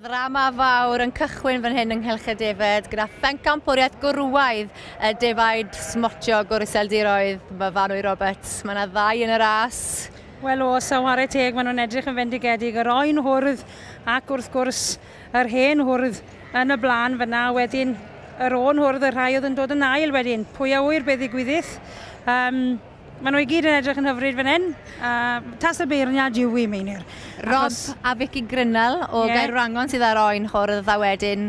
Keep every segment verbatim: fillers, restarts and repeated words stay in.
Ddrama fawr yn cychwyn fan hyn yng Nghylch y Defaid gyda phencampwriaeth gwrywaidd y defaid smotio Gwr-Iseldiroedd Myfanwy Roberts. Mae yna ddau yn y ras. Wel oes, a whare teg, maen nhw'n edrych yn fendigedig. Yr oen hwrdd ac wrth gwrs yr hen hwrdd yn y blaen fyna. Wedyn yr oen hwrdd, y rhai oedd yn dod yn ail wedyn. Pwy a ŵyr beth ddigwyddith. Um, Maen nhw i gyd yn edrych yn hyfryd fan hyn. Uh, tas y beirniad yw i, Meinir. Rob Achos... a Vicky Grinnell o yeah. Gaerwrangon sydd ar oen hwrdd a wedyn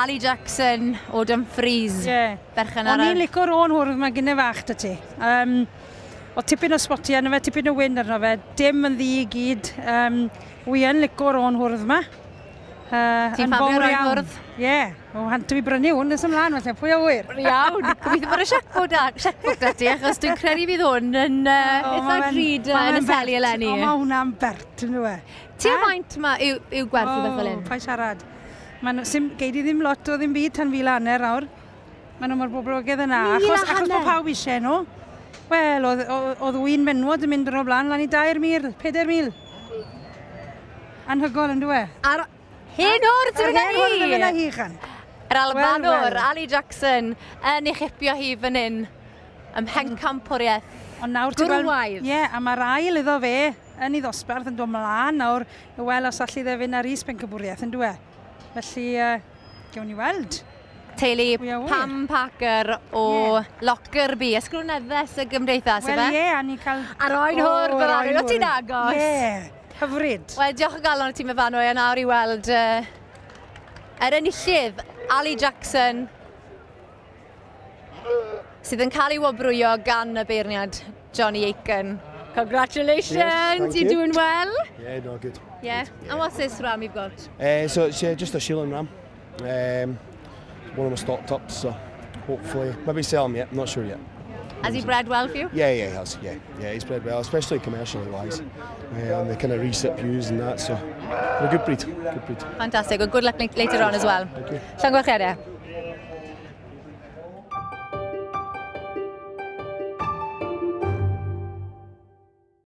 Ali Jackson o Dumfries. Yeah. Berchen ar... O'n i'n licio'r oen hwrdd mae gynne fach 'da ti. Um, o tipyn o spotiau arno fe, tipyn o wyn arno fe, dim yn ddu i gyd. Um, wi yn licio'r oen hwrdd yma. Uh, Ti'n ffafrio'r oen hwrdd? Ie, yeah. O, hantu i brynu hwn nes ymlaen, felly, pwy a ŵyr? Iawn, gobeithio bod y chequebook da, chequebook da ti, achos dwi'n credu fydd hwn yn uh, oh, eitha drud uh, yn y seli eleni. O, mae hwnna'n bert, yn dwi. Ti o faint ma yw, yw gwerth o beth fel hyn? Paid siarad. Ma'n, sim, gei di ddim lot o ddim byd tan fil a hanner nawr. Maen nhw mor boblogaidd yna. Achos, achos bod pawb eisiau nhw. Wel, oedd, oedd wy'n menwod yn mynd yn o blaen, lan i dair mil, pedair mil. Anhygoel yn dwi. Ar hen hwrdd sy'n mynd â hi! Hen hwrdd yn mynd â hi, chan. Yr Albanwr, well, well. Ali Jackson, yn ei chipio hi fan hyn, ym mhencampwriaeth. Ond nawr ti'n gweld... Ie, a mae'r ail iddo fe yn ei ddosbarth yn dod mlaen nawr, wel os allu dde fynd ar is pencampwriaeth yn dwi. Felly, uh, gewn ni weld. Teulu Pam Parker o yeah. Lockerbie, ysgrifenyddes y gymdeithas, Wel, ife? ie, a ni cael... A'r oen hwrdd, yr oen hwrdd, ti'n agos. Ie, yeah. Hyfryd. Wel, diolch o galon i ti, Myfanwy, a nawr i weld uh, yr enillydd, Ali Jackson, sydd yn cael ei wobrwyo gan y beirniad Johnny Aiken. Congratulations, yes, you're you. doing well. Yeah, no, good. Yeah. Good, yeah. And what's this ram you've got? Uh, so it's uh, just a shearling ram. Um, one of my stocked ups, so hopefully, maybe sell him yet, I'm not sure yet. Has he bred well for you? Yeah, yeah, he has. Yeah, yeah, he's bred well, especially commercially wise. Uh, and the kind of recip ewes and that, so a good breed, good breed. Fantastic. Well, good luck later on as well. Thank you. Llongyfarchiadau.